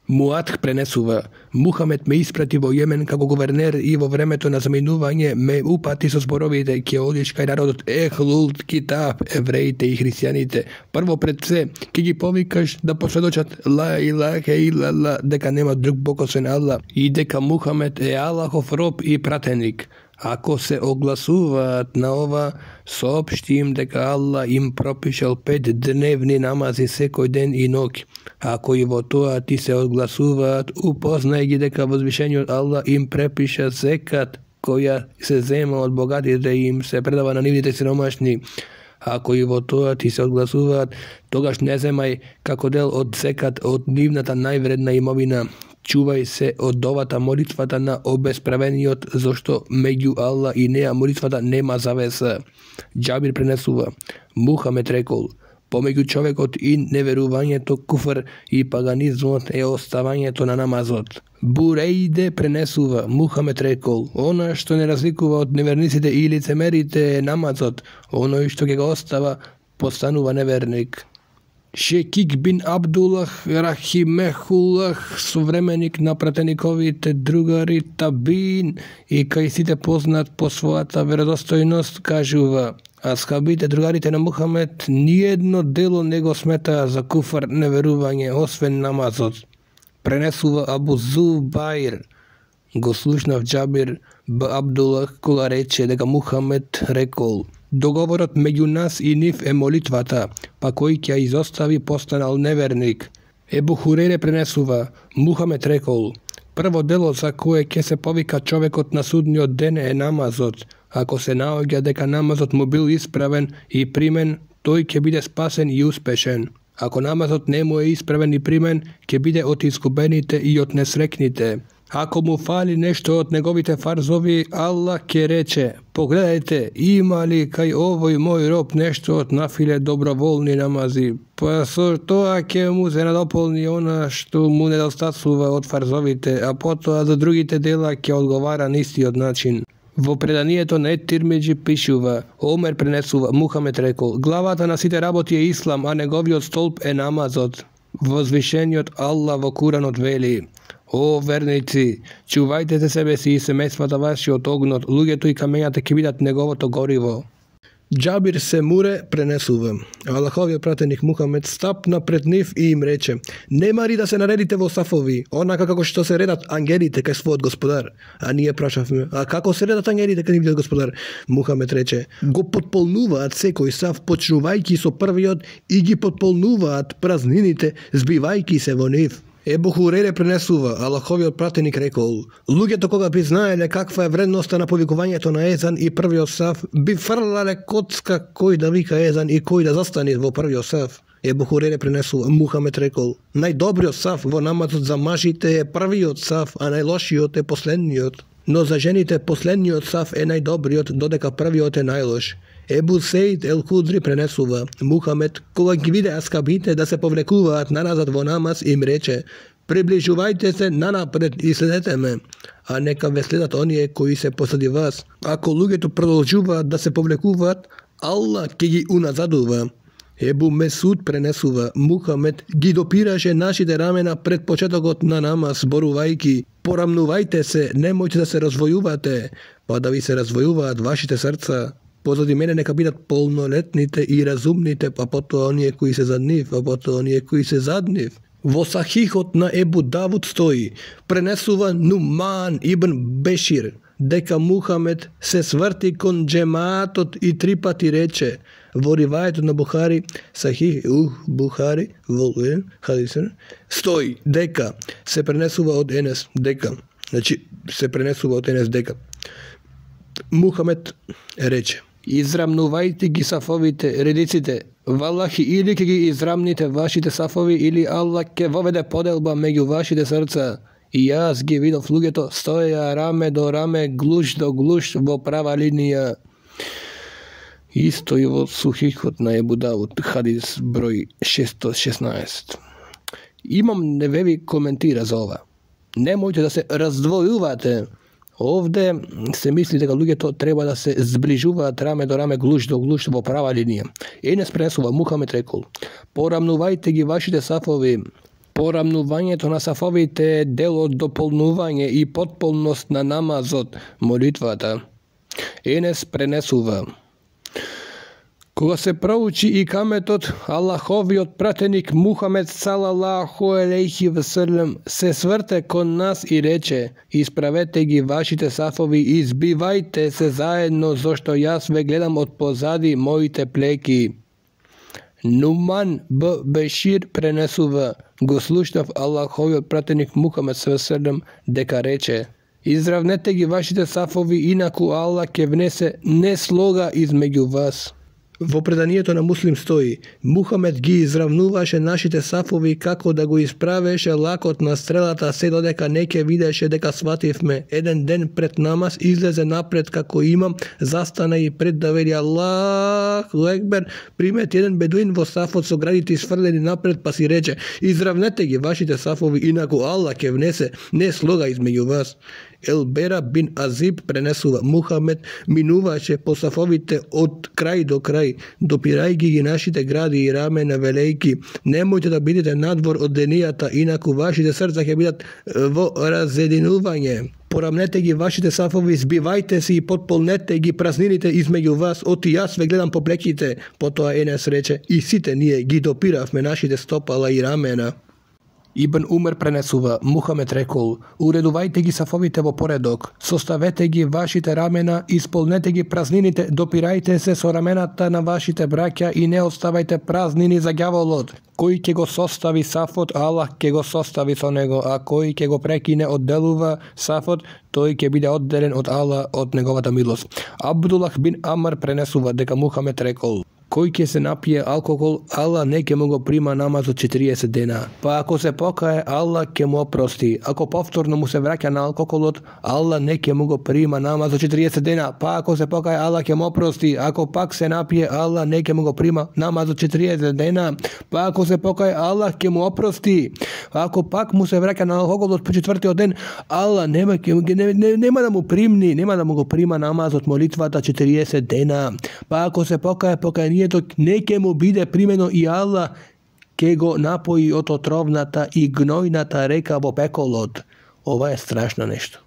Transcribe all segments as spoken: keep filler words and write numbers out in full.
Муадх пренесува: Мухамед ме испрати во Јемен како гувернер и во времето на заминување ме упати со зборовите: ќе одиш кај народот Ехлул Китаб, евреите и христијаните. Прво пред се ќе ги повикаш да посведочат ла илаха илалла, дека нема друг бог освен Аллах и дека Мухамед е Аллахов роб и пратеник. Ако се огласуваат на ова, соопшти им дека Аллах им пропишал пет дневни намази секој ден и ноќ. Ако и во тоа ти се одгласуваат, упознај ги дека возвишениот Аллах им препиша зекат која се зема од богатите и им се предава на нивните сиромашни. Ако и во тоа ти се одгласуваат, тогаш не земај како дел од зекат од нивната највредна имовина. Чувај се од овата молитвата на обесправениот, зашто меѓу Аллах и неа молитвата нема завеса. Џабир пренесува: Мухамед рекол: помеѓу човекот и неверувањето, куфр и паганизмот е оставањето на намазот. Бурејде пренесува: Мухамед рекол: она што не разликува од неверниците и лицемерите е намазот, оној што ќе го остава постанува неверник. Шекик бин Абдуллах рахимехуллах, современик на пратениковите другари табин и кај сите познат по својата веродостојност, кажува: асхабите, другарите на Мухамед, ниедно дело не го сметаа за куфар, неверување, освен намазот. Пренесува Абу Зубаир: го слушнав Џабир б. Абдуллах кога рече дека Мухамед рекол: договорот меѓу нас и нив е молитвата, па кој ќе изостави постанал неверник. Ебу Хурейре пренесува: Мухамед рекол: прво дело за кое ќе се повика човекот на судниот ден е намазот. Ако се наоѓа дека намазот му бил исправен и примен, тој ќе биде спасен и успешен. Ако намазот не му е исправен и примен, ќе биде од изгубените и од несрекните. Ако му фали нешто од неговите фарзови, Аллах ќе рече: погледајте, има ли кај овој мој роб нешто од нафиле доброволни намази, па со тоа ќе му се надополни она што му недостасува од фарзовите, а потоа за другите дела ќе одговара на истиот начин. Во преданието на Ет-Тирмиџи пишува: Омер пренесува: Мухамед рекол: главата на сите работи е ислам, а неговиот столб е намазот. Возвишениот Аллах во Куранот вели: о верници, чувајте се себе си и семејствата ваши од огнот, луѓето и камењата ќе бидат неговото гориво. Џабир се муре пренесува: Аллаховиот пратеник Мухамед стапна пред нив и им рече: немари да се наредите во сафови, онака како што се редат ангелите кај својот господар. А ние прашавме: а како се редат ангелите кај нивниот господар? Мухамед рече: го потполнуваат секој саф, почнувајќи со првиот и ги потполнуваат празнините, збивајќи се во нив. Ебу Хурейре пренесува: Аллаховиот пратеник рекол: луѓето кога би знаеле каква е вредноста на повикувањето на езан и првиот саф, би фрлале коцка кој да вика езан и кој да застане во првиот саф. Ебу Хурейре пренесува: Мухамед рекол: најдобриот саф во намазот за мажите е првиот саф, а најлошиот е последниот. Но за жените последниот саф е најдобриот, додека првиот е најлош. Ебу Сеид ел Худри пренесува: Мухамед, кога ги виде аскабите да се повлекуваат наназад во намаз, им рече: приближувајте се нанапред и следете ме, а нека ве следат оние кои се посади вас. Ако луѓето продолжуваат да се повлекуваат, Аллах ќе ги уназадува. Ебу Месуд пренесува: Мухамед ги допираше нашите рамена пред почетокот на намаз, зборувајќи: порамнувајте се, немојте да се развојувате, па да ви се развојуваат вашите срца. Позади мене нека бидат полнолетните и разумните, па потоа оние кои се зад нив, а потоа оние кои се зад нив. Во Сахихот на Ебу Давуд стои: пренесува Нуман ибн Бешир дека Мухамед се сврти кон џемаатот и три пати рече. Во ривајето на Бухари, Сахих ух Бухари, во хадисен, стои дека се пренесува од Енес дека, значи се пренесува од Енес дека Мухамед рече: израмнувајте ги сафовите, редиците, валлахи, или ќе ги израмните вашите сафови, или Аллах ќе воведе поделба меѓу вашите срца. И јас ги видов луѓето стоја раме до раме, глуш до глуш во права линија. Исто и во Сухихот на Ебу Давуд, хадис број шестстотин и шеснаесет. Имам Невеви коментира за ова: немојте да се раздвојувате. Овде се мисли дека луѓето треба да се зближуваат раме до раме, глуш до глуш во права линија. Енес пренесува: Мухамед рекол: порамнувајте ги вашите сафови. Порамнувањето на сафовите е дел од дополнување и потполност на намазот, молитвата. Енес пренесува: кога се проучи и каметот, Аллаховиот пратеник Мухамед салалаху алейхи веселем се сврте кон нас и рече: исправете ги вашите сафови и избивајте се заедно, зашто јас ве гледам од позади моите плеки. Нуман б. Бешир пренесува: го слушнав Аллаховиот пратеник Мухамед салалаху дека рече: изравнете ги вашите сафови, инаку Аллах ќе внесе неслога измеѓу вас. Во преданието на Муслим стои: Мухамед ги изравнуваше нашите сафови како да го исправеше лакот на стрелата, се додека не ќе видеше дека свативме. Еден ден пред намаз излезе напред како имам, застана и пред да вели Аллаху екбер, примети еден бедуин во сафот со градите изфрлени напред, па си рече: изравнете ги вашите сафови, инаку Аллах ќе внесе неслога измеѓу вас. Елбера бин Азиб пренесува: Мухамед минуваше по сафовите од крај до крај, допирајќи ги нашите гради и рамена, велејки: немојте да бидете надвор од денијата, инаку вашите срца ќе бидат во разединување. Порамнете ги вашите сафови, збивајте се и потполнете ги празнините измеѓу вас, оти јас ве гледам по плеките. Потоа Енес рече: и сите ние ги допиравме нашите стопала и рамена. Ибн Умер пренесува: Мухамед рекол: уредувајте ги сафовите во поредок, составете ги вашите рамена, исполнете ги празнините, допирајте се со рамената на вашите браќа и не оставајте празнини за ѓаволот. Кој ќе го состави сафот, Аллах ќе го состави со него, а кој ќе го прекине одделува сафот, тој ќе биде одделен од Аллах, од неговата милост. Абдуллах бин Амр пренесува дека Мухамед рекол: кој ќе се напие алкохол, Аллах не ќе му го прима намазот четириесет дена. Па ако се покае, Аллах ќе му опрости. Ако повторно му се враќа на алкохолот, Аллах не ќе му го прима намазот четириесет дена. Па ако се покае, Аллах ќе му опрости. Ако пак се напие, Аллах не ќе му го прима намазот четириесет дена. Па ако се покае, Аллах ќе му опрости. Ако пак му се враќа на алкохолот по четвртиот ден, Аллах нема ќе не, не, нема да му примни, нема да му го прима намазот молитвата четириесет дена. Па ако се покае, покајанието не ќе му биде примено и Аллах ќе го напои од отровната и гнојната река во пеколот. Ова е страшно нешто.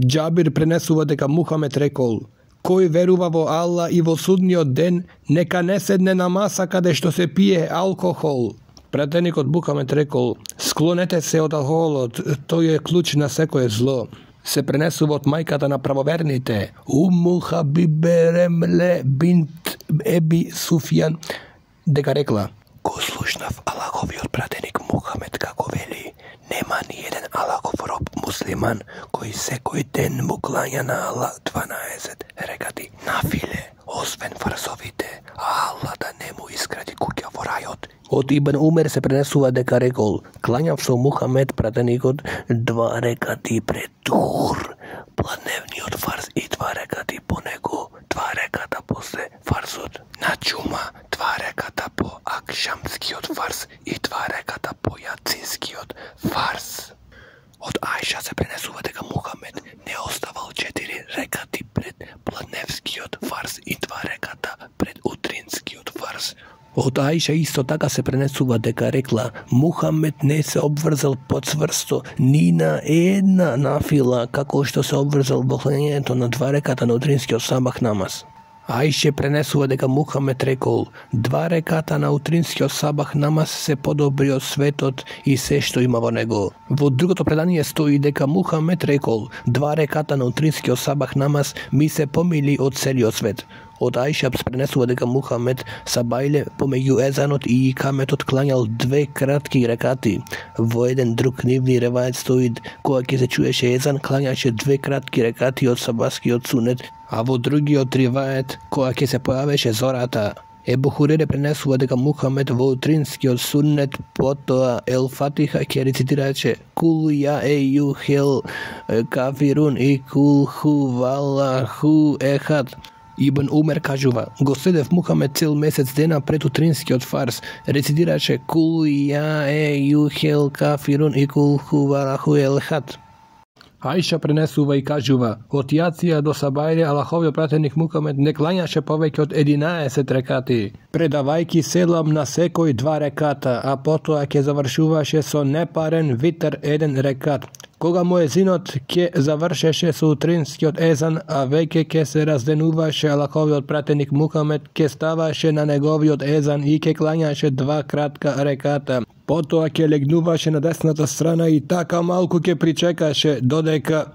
Џабир пренесува дека Мухамед рекол: кој верува во Аллах и во судниот ден, нека не седне на маса каде што се пие алкохол. Пратеникот Мухамед рекол: склонете се од алкохолот, тој е клуч на секое зло. Се пренесува од мајката на правоверните, Уму Хабибе Ремле бинт Еби Суфјан, дека рекла: го слушнав Аллаховиот пратеник Мухамед како вели: нема ни еден Аллахов роб муслиман кој секој ден му клања на Аллах дванаесет рекати нафиле, освен фарзовите, а Аллах да не му изгради куќа во рајот. Од Ибн Умер се пренесува дека рекол: клањав со Мухамед пратеникот два рекати пред Дур, пладневниот фарз, и два рекати по него, два реката после фарзот на џума, два реката по акшамскиот фарз и два реката по јацинскиот фарз. Од Ајша се пренесува дека Мухамед не оставал четири рекати пред пладневскиот фарз и два реката пред утринскиот фарз. Од Ајша исто така се пренесува дека рекла: Мухамед не се обврзал подцврсто ни на една нафила, како што се обврзал во клањањето на два реката на утринскиот сабах намаз. Ајше пренесува дека Мухамед рекол: два реката на утринскиот сабах намаз се подобри од светот и се што има во него. Во другото предание стои дека Мухамед рекол: два реката на утринскиот сабах намаз ми се помили од целиот свет. Од Ајша се пренесува дека Мухамед сабајле помеѓу езанот и икаметот клањал две кратки рекати. Во еден друг нивни ревајет стои кога ќе се чуеше езан, клањаше две кратки рекати од сабаскиот сунет, а во другиот ревајет кога ќе се појавеше зората. Ебу Хурере пренесува дека Мухамед во утринскиот сунет потоа Ел Фатиха ќе рецитираше Кул ја еју хел кафирун и кул ху валаху ехад. Ибн Умер кажува: го следев Мухамед цел месец дена пред утринскиот фарз, рецитираше Кул ја еју хел кафирун и кул ху валаху ехад. Аиша пренесува и кажува: од Јација до Сабајле Аллаховиот пратеник Мухамед не клањаше повеќе од единаесет рекати, предавајќи селам на секој два реката, а потоа ќе завршуваше со непарен витер еден рекат. Кога муезинот ќе завршеше со утринскиот езан, а веќе ќе се разденуваше, Аллаховиот пратеник Мухамед ќе ставаше на неговиот езан и ќе клањаше два кратка реката. Потоа ќе легнуваше на десната страна и така малку ќе причекаше додека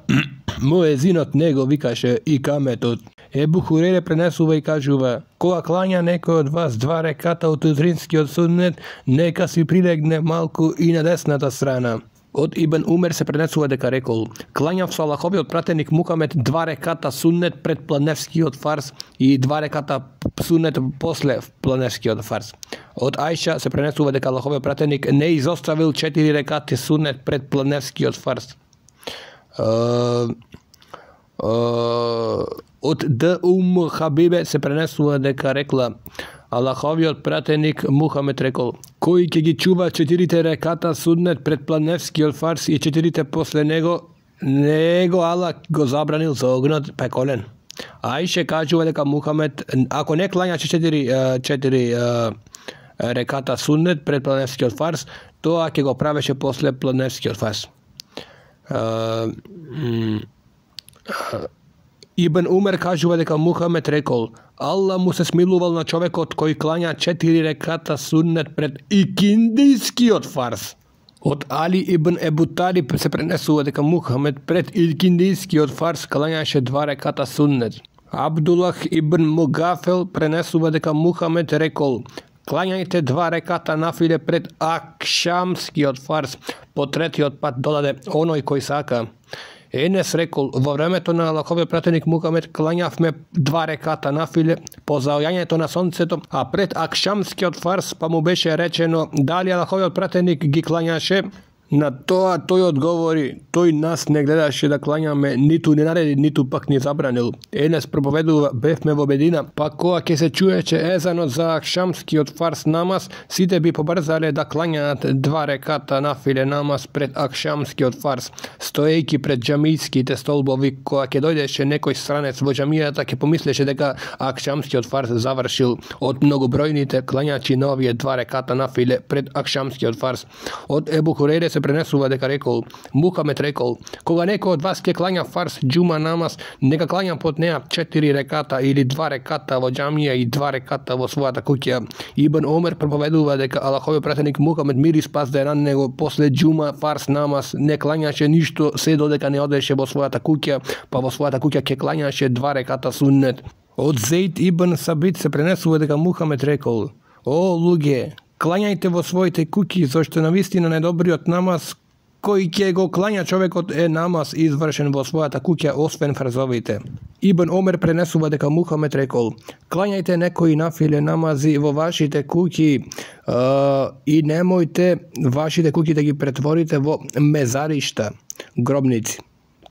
муезинот не го викаше и каметот. Ебу Хурейре пренесува и кажува: кога клања некој од вас два реката од утринскиот суннет, нека си прилегне малку и на десната страна. Од Ибн Умер се пренесува дека рекол: клањав со Аллаховиот пратеник Мухамед два реката суннет пред планевскиот фарз и два реката суннет после планевскиот фарз. Од Аиша се пренесува дека Аллаховиот пратеник не изоставил четири рекати суннет пред планевскиот фарз. Uh, uh, од Д. Ум Хабибе се пренесува дека рекла: Аллаховиот пратеник Мухамед рекол: кој ќе ги чува четирите реката суннет пред планевскиот фарз и четирите после него, него Аллах го забранил за огнот пеколен. Аише кажува дека Мухамед, ако не клањаше четири, четири реката суннет пред планевскиот фарз, тоа ќе го правеше после планевскиот фарз. Ибн Умер кажува дека Мухамед рекол: Аллах му се смилувал на човекот кој клања четири реката суннет пред икиндискиот фарз. Од Али ибн Ебу Талиб се пренесува дека Мухамед пред икиндискиот фарз клањаше два реката суннет. Абдуллах ибн Мугафел пренесува дека Мухамед рекол: клањајте два реката нафиле пред акшамскиот фарз, по третиот пат додаде оној кој сака. Енес рекол: во времето на Аллаховиот пратеник Мухамед клањавме два реката нафиле по заоѓањето на сонцето, а пред акшамскиот фарз па му беше речено дали Аллаховиот пратеник ги клањаше. На тоа тој одговори: тој нас не гледаше да клањаме, ниту не нареди, ниту пак ни забранил. Енес проповедува: бевме во Медина, па кога ќе се чуеше езанот за акшамскиот фарз намаз, сите би побрзале да клањаат два реката нафиле намаз пред акшамскиот фарз, стоејќи пред џамиските столбови. Кога ќе дојдеше некој странец во џамијата, ќе помислеше дека акшамскиот фарз завршил од многобројните клањачи на овие два реката нафиле пред акшамскиот фарз. Од Ебу Хурейре се пренесува дека рекол: Мухамед рекол: кога некој од вас ќе клања фарз џума намаз, нека клања под неа четири реката или два реката во џамија и два реката во својата куќа. Ибн Омер проповедува дека Аллаховиот пратеник Мухамед мир и спас да е на него после џума фарз намаз не клањаше ништо се додека не одеше во својата куќа, па во својата куќа ќе клањаше два реката суннет. Од Зейд ибн Сабит се пренесува дека Мухамед рекол: о луѓе, клањајте во своите куќи, зашто навистина најдобриот намаз кој ќе го клања човекот е намаз извршен во својата куќа освен фарзовите. Ибн Омер пренесува дека Мухамед рекол: клањајте некои нафиле намази во вашите куќи uh, и немојте вашите куќи да ги претворите во мезаришта, гробници,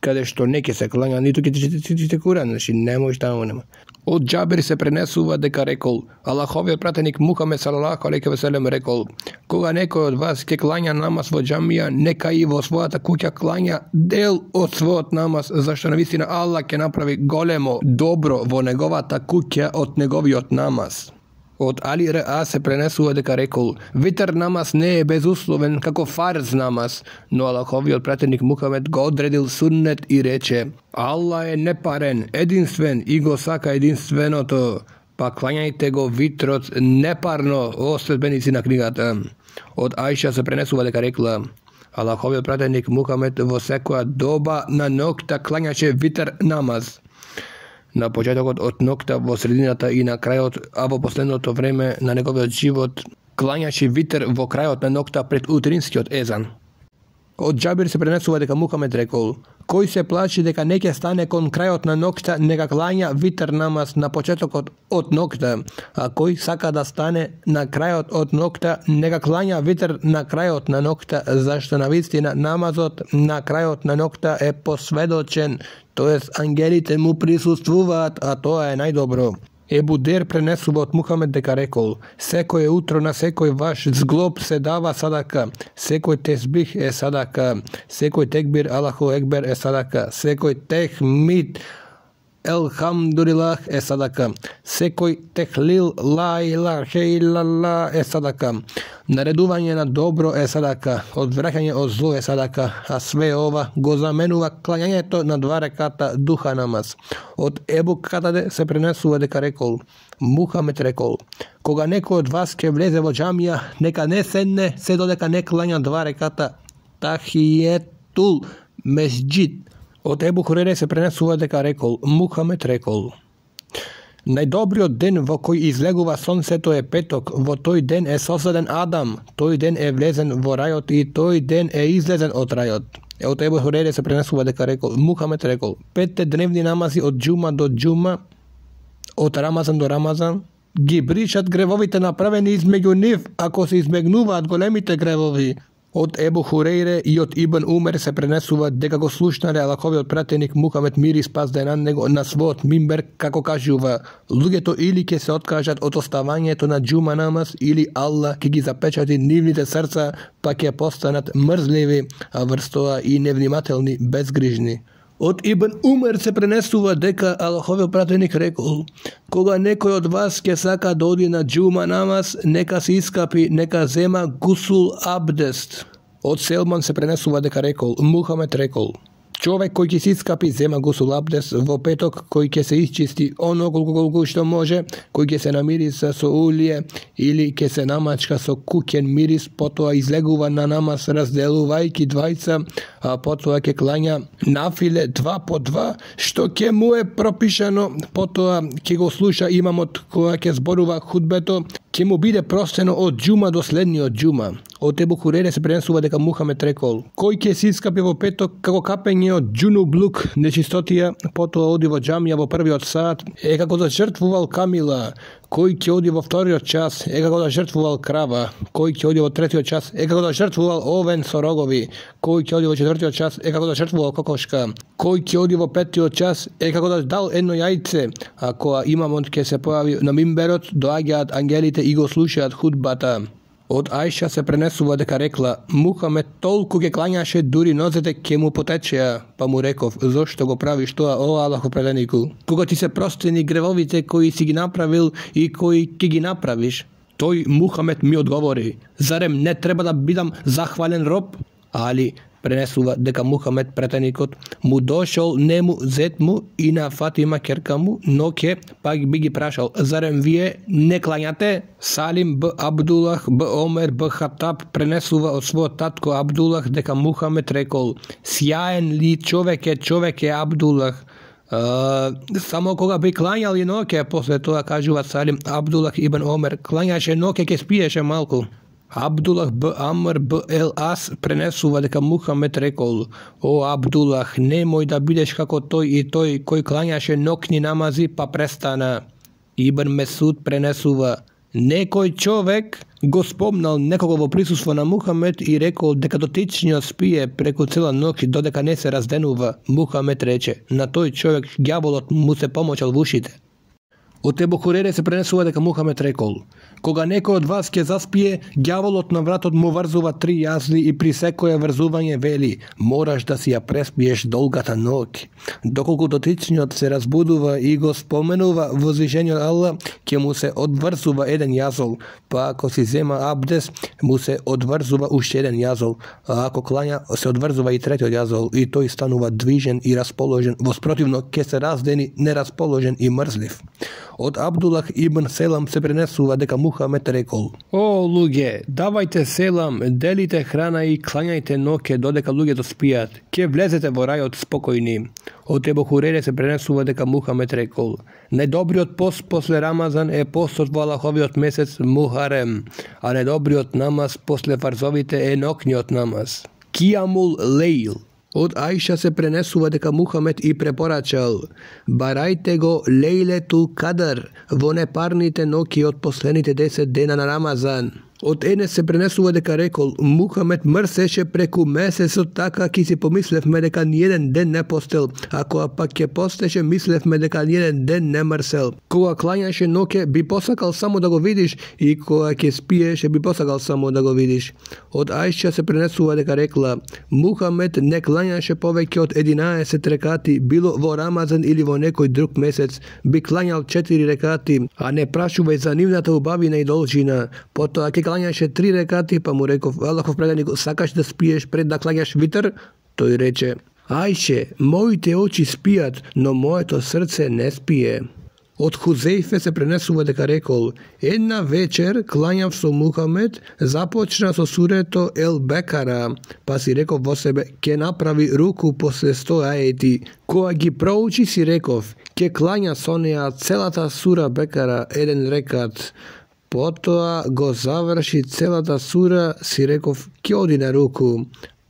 каде што не ќе се клања, ниту ќе ти читате Куран, значи не може таму нема. Од Џабир се пренесува дека рекол: Аллаховиот пратеник Мухамед салалаху алейхи ве селем рекол: кога некој од вас ќе клања намаз во џамија, нека и во својата куќа клања дел од својот намаз, зашто навистина Аллах ќе направи големо добро во неговата куќа од неговиот намаз. Од Али Р.А. се пренесува дека рекол: витер намаз не е безусловен како фарз намаз, но Аллаховиот пратеник Мухамед го одредил суннет и рече: Аллах е непарен, единствен и го сака единственото, па клањајте го витрот непарно, о следбеници на книгата. Од Аиша се пренесува дека рекла: Аллаховиот пратеник Мухамед во секоја доба на ноќта клањаше витер намаз. На почетокот од ноќта, во средината и на крајот, а во последното време на неговиот живот клањаше витер во крајот на ноќта пред утринскиот езан. Од Џабир се пренесува дека Мухамед рекол: кој се плаши дека не ќе стане кон крајот на ноќта, нека клања витер намаз на почетокот од ноќта, а кој сака да стане на крајот од ноќта, нека клања витер на крајот на ноќта, зашто навистина намазот на крајот на ноќта е посведочен, тоест ангелите му присуствуваат, а тоа е најдобро. Ебу Дер пренесува од Мухамед дека рекол: секое утро на секој ваш зглоб се дава садака, секој тесбих е садака, секој текбир Аллаху екбер е садака, секој техмид Елхамдулилах е садака, секој техлил ла илаха илалла е садака, наредување на добро е садака, одвраќање од зло е садака, а све ова го заменува клањањето на два реката духа намаз. Од Ебу Катаде се пренесува дека рекол: Мухамед рекол: кога некој од вас ќе влезе во џамија, нека не седне се додека не клања два реката тахиетул месџид. Од Ебу Хурейре се пренесува дека рекол: Мухамед рекол: најдобриот ден во кој излегува сонцето е петок, во тој ден е создаден Адам, тој ден е влезен во рајот и тој ден е излезен од рајот. Од Ебу Хурейре се пренесува дека рекол: Мухамед рекол: петте дневни намази од џума до џума, од Рамазан до Рамазан, ги бришат гревовите направени измеѓу нив, ако се измегнуваат големите гревови. Од Ебу Хурейре и од Ибн Умер се пренесува дека го слушнале Аллаховиот пратеник Мухамед мир и спас да е на него на својот мимбер како кажува: луѓето или ќе се откажат од оставањето на џума намаз, или Аллах ќе ги запечати нивните срца, па ќе постанат мрзливи, а врз тоа и невнимателни, безгрижни. Од Ибн Умер се пренесува дека Аллаховиот пратеник рекол: кога некој од вас ќе сака да оди на џума намаз, нека се искапи, нека зема гусул абдест. Од Селман се пренесува дека рекол: Мухамед рекол: човек кој ќе се искапи, зема гусул абдест во петок, кој ќе се исчисти оно колку колку што може, кој ќе се намириса со улие или ќе се намачка со куќен мирис, потоа излегува на намаз разделувајќи двајца, а потоа ќе клања нафиле два по два, што ќе му е пропишано, потоа ќе го слуша имамот која ќе зборува худбето, ќе му биде простено од џума до следниот џума. Од Ебу Хурейре се пренесува дека Мухамед рекол: кој ќе се искапи во петок како капење од џунублук, нечистотија, потоа оди во џамија во првиот саат, е како да жртвувал камила, кој ќе оди во вториот час, е како да жртвувал крава, кој ќе оди во третиот час, е како да жртвувал овен со рогови, кој ќе оди во четвртиот час, е како да жртвувал кокошка, кој ќе оди во петтиот час, е како да дал едно јајце, а кога имамот ќе се појави на мимберот, доаѓаат ангелите и го слушаат худбата. Од Ајша се пренесува дека рекла: Мухамед толку ќе клањаше дури нозете ќе му потечеа, па му реков: зошто го правиш тоа, о Аллахов пратенику? Кога ти се простени гревовите кои си ги направил и кои ќе ги направиш? Тој Мухамед ми одговори: зарем не треба да бидам захвален роб? Али пренесува дека Мухамед пратеникот му дошол нему зет му и на Фатима керка му, но ке пак би ги прашал: зарем вие не клањате? Салим б. Абдулах б. Омер б. Хатаб пренесува од својот татко Абдулах дека Мухамед рекол: сјаен ли човек е човек е Абдулах. Uh, само кога би клањал и ноќе, после тоа кажува Салим Абдулах ибн Омер, клањаше ноќе ке спиеше малку. Абдулах б. Амр б. Ел Ас пренесува дека Мухамед рекол: о Абдулах, немој да бидеш како тој и тој кој клањаше ноќни намази па престана. Ибн Месуд пренесува: некој човек го спомнал некого во присуство на Мухамед и рекол дека дотичниот спие преку цела ноќ додека не се разденува. Мухамед рече: на тој човек ѓаволот му се помочал во ушите. Од Ебу Хурейре се пренесува дека Мухамед рекол: кога некој од вас ќе заспие, ѓаволот на вратот му врзува три јазли и при секое врзување вели: мораш да си ја преспиеш долгата ноќ. Доколку дотичниот се разбудува и го споменува возвишениот Аллах, ќе му се одврзува еден јазол, па ако си зема абдес, му се одврзува уште еден јазол, а ако клања, се одврзува и третиот јазол, и тој станува движен и расположен, воспротивно ќе се раздени нерасположен и мрзлив. Од Абдулах ибн Селам се пренесува дека Мухамед рекол: о луѓе, давајте селам, делите храна и клањајте ноќе додека луѓето спијат, ќе влезете во рајот спокојни. Од Ебу Хурейре се пренесува дека Мухамед рекол: најдобриот пост после Рамазан е постот во Аллаховиот месец Мухарем, а најдобриот намаз после фарзовите е ноќниот намаз. Кијамул лейл. Од Ајша се пренесува дека Мухамед и препорачал: барајте го лейлетул кадр во непарните ноќи од последните десет дена на Рамазан. Од Енес се пренесува дека рекол, Мухамед мрсеше преку месецот, така ки си помислевме дека ниеден ден не постел, а кога пак ќе постеше, мислевме дека ниеден ден не мрсел. Кога клањаше ноќе, би посакал само да го видиш, и кога ќе спиеше, би посакал само да го видиш. Од Ајша се пренесува дека рекла, Мухамед не клањаше повеќе од единаесет рекати, било во Рамазан или во некој друг месец, би клањал четири рекати, а не прашувај за нивната убавина и должина. Потоа ќе клањаше три рекати, па му реков, Аллахов преданик, сакаш да спиеш пред да клањаш витр? Тој рече, Ајше, моите очи спијат, но моето срце не спие. Од Хузејфе се пренесува дека рекол, една вечер клањав со Мухамед, започна со сурето Ел Бекара, па си реков во себе, ке направи руку после сто аети. Кога ги проучи си реков, ке клања со неа целата сура Бекара еден рекат. Потоа го заврши целата сура, си реков, ке оди на руку.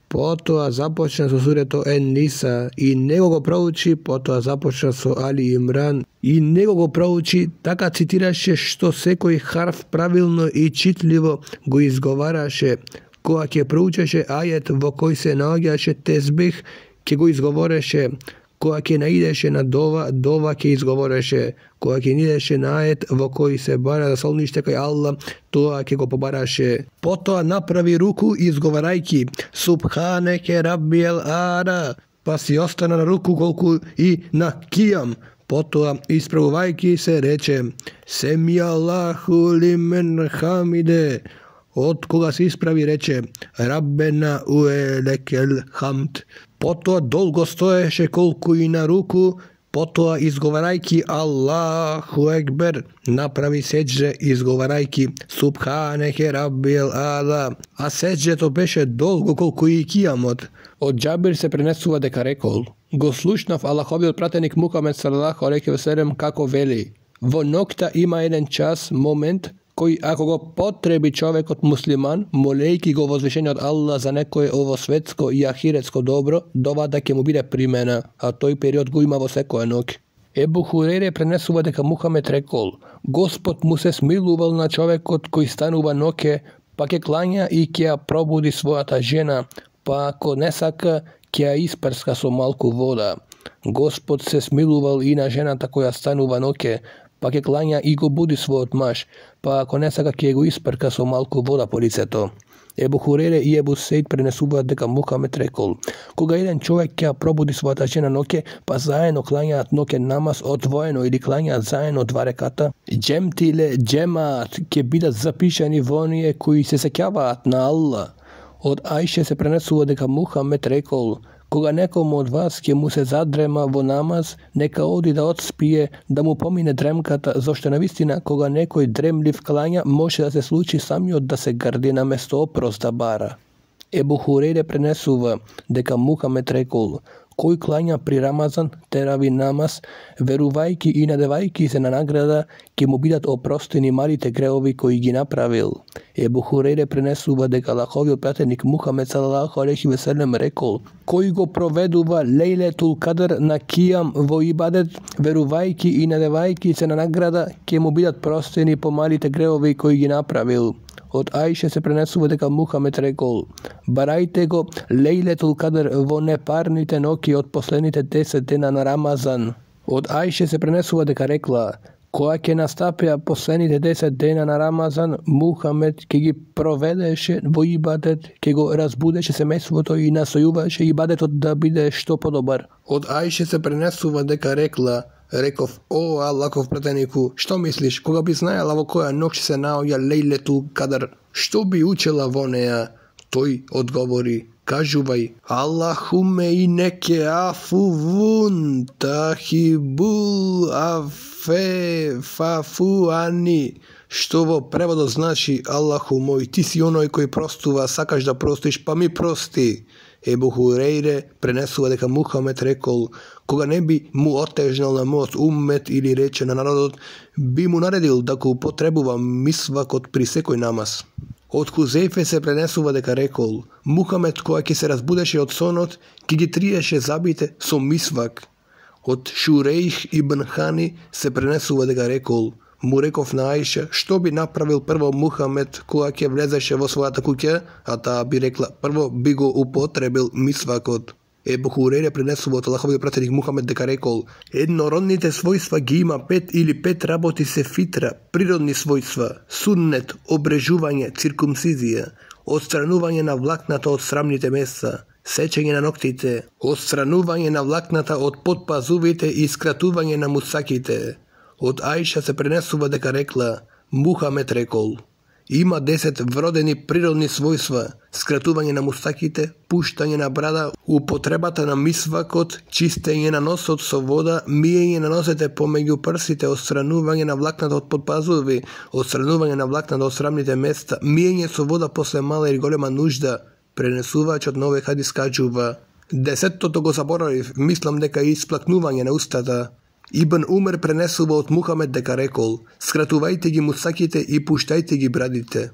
Потоа започна со сурето Ен Ниса и него го проучи, потоа започна со Али Имран и него го проучи, така цитираше што секој харф правилно и читливо го изговараше. Кога ќе проучеше ајет во кој се наоѓаше тезбих, ќе го изговореше. Кога ќе наидеше на дова, дова ќе изговореше. Кога ќе наидеше на ајет во кој се бара за солниште кај Аллах, тоа ќе го побараше. Потоа направи руку изговарајки Субханеке Раббиел Ара, па си остана на руку колку и на кијам. Потоа исправувајки се рече Семи Аллаху лимен хамиде. Од кога се исправи рече Раббена уелекел хамд. Потоа долго стоеше колку и на руку, потоа изговарајки Аллаху екбер, направи седже изговарајки Субханеке Раббиел Ала, а седжето беше долго колку и кијамот. Од Џабир се пренесува дека рекол, го слушнав Аллаховиот пратеник Мухамед салалаху алейхи ве селем како вели, во ноќта има еден час, момент, кој ако го потреби човекот муслиман, молејки го возвишениот Аллах за некое овосветско и ахиретско добро, довата ќе му биде примена, а тој период го има во секоја ноќ. Ебу Хурейре пренесува дека Мухамед рекол, Господ му се смилувал на човекот кој станува ноќе, па ќе клања и ќе ја пробуди својата жена, па ако не сака, ќе ја испрска со малку вода. Господ се смилувал и на жената која станува ноќе, па ќе клања и го буди својот маж, па ако не сака ќе го испрка со малку вода по лицето. Ебу Хурейре и Ебу Сеид пренесуваат дека Мухамед рекол, кога еден човек ќе пробуди својата жена ноќе, па заедно клањаат ноќе намаз одвоено или клањаат заедно два реката, џемти иле џемаат ќе бидат запишани во оние кои се сеќаваат на Аллах. Од Ајше се пренесува дека Мухамед рекол, кога некому од вас ќе му се задрема во намаз, нека оди да одспие, да му помине дремката, зашто навистина кога некој дремлив клања, може да се случи самиот да се грди на место опрос да бара. Ебу Хурейре пренесува дека Мухамед рекол, кој клања при Рамазан, терави намаз, верувајки и надевајки се на награда, ќе му бидат опростени малите греови кои ги направил. Ебу Хурейре пренесува дека Аллаховиот пратеник Мухамед салалаху алейхи ве селем рекол, кој го проведува Лейлетул Кадр на кијам во ибадет, верувајки и надевајки се на награда, ќе му бидат простени по малите греови кои ги направил. Од Ајше се пренесува дека Мухамед рекол, барајте го Лейлетул Кадр во непарните ноќи од последните десет дена на Рамазан. Од Ајше се пренесува дека рекла, кога ќе настапеа последните десет дена на Рамазан, Мухамед ќе ги проведеше во ибадет, ќе го разбудеше семејството и настојуваше ибадетот да биде што подобар. Од Ајше се пренесува дека рекла, реков, о Аллахов пратенику, што мислиш, кога би знаела во која ноќ се наоѓа Лейлетул Кадр, што би учела во неа? Тој одговори, кажувај, Аллахуме инеке афувун тахибул афе фафу ани, што во преводот значи, Аллаху мој, ти си оној кој простува, сакаш да простиш, па ми прости. Ебу Хурейре пренесува дека Мухамед рекол, кога не би му отежнал на мојот уммет или рече на народот, би му наредил да го употребува мисвакот при секој намаз. Од Хузејфе се пренесува дека рекол, Мухамед кога ќе се разбудеше од сонот, ќе ги триеше забите со мисвак. Од Шурейх ибн Хани се пренесува дека рекол, Му реков на Аиша што би направил прво Мухамед кога ќе влезеше во својата куќа, а таа би рекла прво би го употребил мисвакот. Ебу Хурейре пренесува од Аллаховиот пратеник Мухамед дека рекол: еднородните својства ги има пет или пет работи се фитра, природни својства, суннет, обрежување, циркумцизија, отстранување на влакната од срамните места, сечење на ноктите, отстранување на влакната од подпазувите и скратување на мусаките. Од Аиша се пренесува дека рекла: Мухамед рекол: има десет вродени природни својства: скратување на мустаките, пуштање на брада, употребата на мисвакот, чистење на носот со вода, миење на носете помеѓу прсите, отстранување на влакната од подпазуви, отстранување на влакната од срамните места, миење со вода после мала или голема нужда. Пренесувачот на овој хадис кажува: десеттото го заборавив, мислам дека е исплакнување на устата. Ибн Умер пренесува од Мухамед дека рекол: скратувајте ги мусаките и пуштајте ги брадите.